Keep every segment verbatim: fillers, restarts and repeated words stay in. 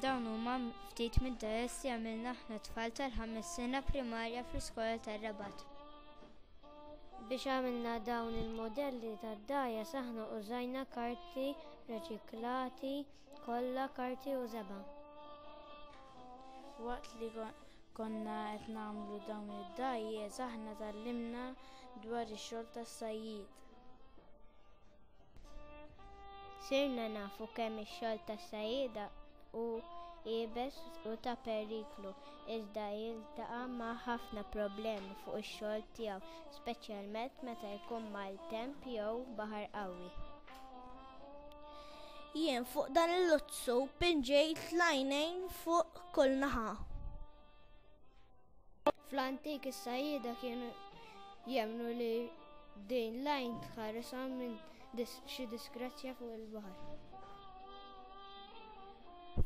Dawn huma ftit mid-dgħajjes li għamilna aħna tfal tal-ħames sena primarja fl-iskola tar-Rabat. Biex għamilna dawn il-modelli tad-dgħajjes aħna użajna karti reċiklati, kolla, karti u żebgħa. Waqt li konna qed nagħmlu dawn id-dgħajjes aħna tgħallimna dwar ix-xogħol tas-sajjied. Sirna nafu kemm ix-xogħol tas-sajjieda hu iebes u ta' periklu, iżda jiltaqa' ma' ħafna problemi fuq ix-xogħol tiegħu, speċjalment meta jkun maltemp jew baħar qawwi. Jien fuq dan il-luzzu pinġejt l-għajnejn fuq kull naħa. Fl-antik is-sajjieda kienu jemmnu li din l-għajn tħarishom minn xi disgrazzja fuq il-baħar.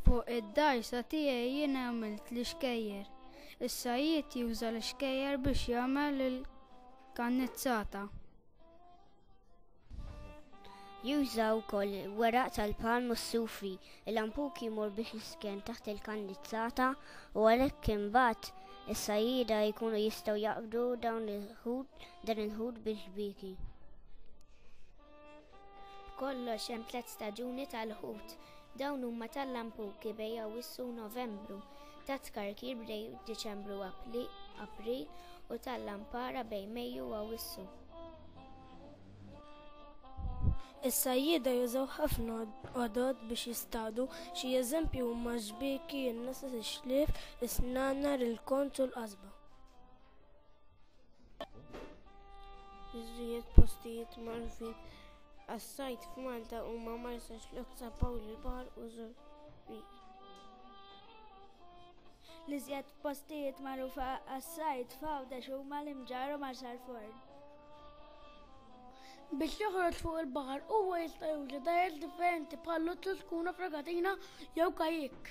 Fuq id-dgħajsa tiegħi jien għamilt l-ixkejjer. Is-sajjied juża l-ixkejjer biex jagħmel il-kannizzata. Juża wkoll weraq tal-palm u s-sufi. Il-lampuki jmur biex jisken taħt il-kannizzata u għalhekk imbagħad is-sajjieda jkunu jistgħu jaqbdu dawn il-ħut dan il-ħut bix-xbieki. B'kollox hemm tliet staġuni tal-ħut. Dawn huma tal-lampuki bejn Awwissu u Novembru, tat-tkarkir bejn Diċembru u April u tal-lampara bejn Mejju u Awwissu. Is-sajjieda jużaw ħafna għodod biex jistadu, xi eżempji huma x-xbieki, in-nases, ix-xlief, is-snanar, il-konz u l-qasba. Iż-żied postijiet magħrufin għas-sajd f'Malta huma Marsaxlokk, San Pawl il-Baħar u Żurrieq. L-iżjed postijiet magħrufa għas-sajd f'Għawdex huma l-Imġarr u Marsalforn. Biex joħroġ fuq il-baħar huwa jista' juża dgħajjes differenti bħal luzzu, skuna, fregatina jew kajjik.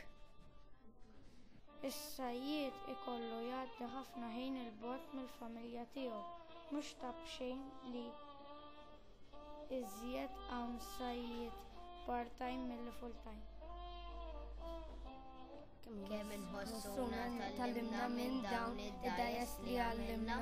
Is-sajjied ikollu jgħaddi ħafna ħin 'il bogħod mill-familja tiegħu, mhux ta' b'xejn li iżjed hawn sajjied part-time milli full-time. Kemm inħossuna tgħallimna minn dawn id-dgħajjes li għallimna.